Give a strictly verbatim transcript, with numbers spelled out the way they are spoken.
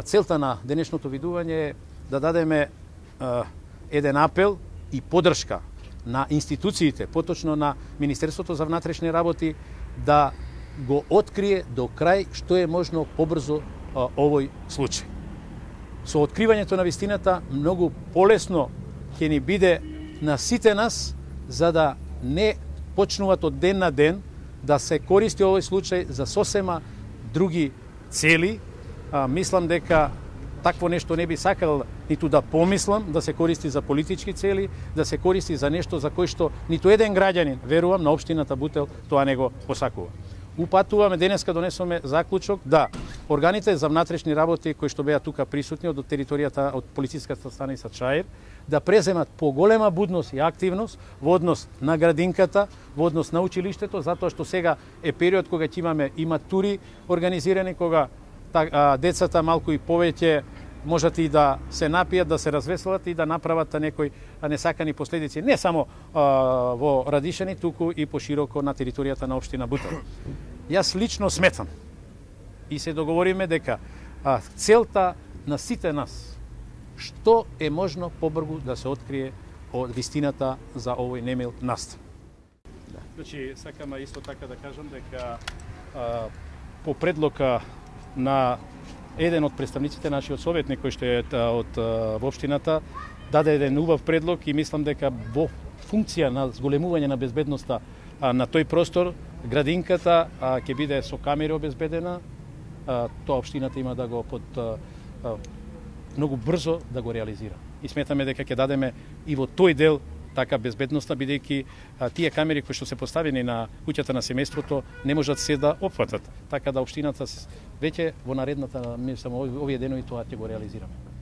целта на денешното видување е да дадеме еден апел и поддршка на институциите, поточно на Министерството за внатрешни работи, да го открие до крај што е можно побрзо овој случај. Со откривањето на вистината многу полесно ќе ни биде на сите нас, за да не почнуваат од ден на ден да се користи овој случај за сосема други цели. А, мислам дека такво нешто не би сакал ниту да помислам да се користи за политички цели, да се користи за нешто за кој што ниту еден граѓанин, верувам, на општината Бутел тоа не го посакува. Упатуваме, денеска донесоме заклучок да органите за внатрешни работи кои што беа тука присутни од територијата од полициската станица Чаир да преземат поголема будност и активност во однос на градинката, во однос на училиштето, затоа што сега е период кога ќе имаме и матури организирани, кога а, децата малку и повеќе можат и да се напијат, да се развеселат и да направат некои несакани последици, не само а, во Радишани, туку и пошироко на територијата на општина Бутел. Јас лично сметам и се договориме дека а, целта на сите нас што е можно побрзо да се открие од вистината за овој немил настан. Да. Значи, сакам исто така да кажам дека а, по предлога на еден од представниците, нашиот советник кој што е од општината, даде еден убав предлог и мислам дека во функција на зголемување на безбедноста на тој простор, градинката ќе биде со камери обезбедена, тоа општината има да го под многу брзо да го реализира. И сметаме дека ќе дадеме и во тој дел така безбедноста, бидејќи тие камери кои што се поставени на куќата на семејството не можат се да опфатат. Така да општината веќе во наредната, мислам, овие денови тоа ќе го реализираме.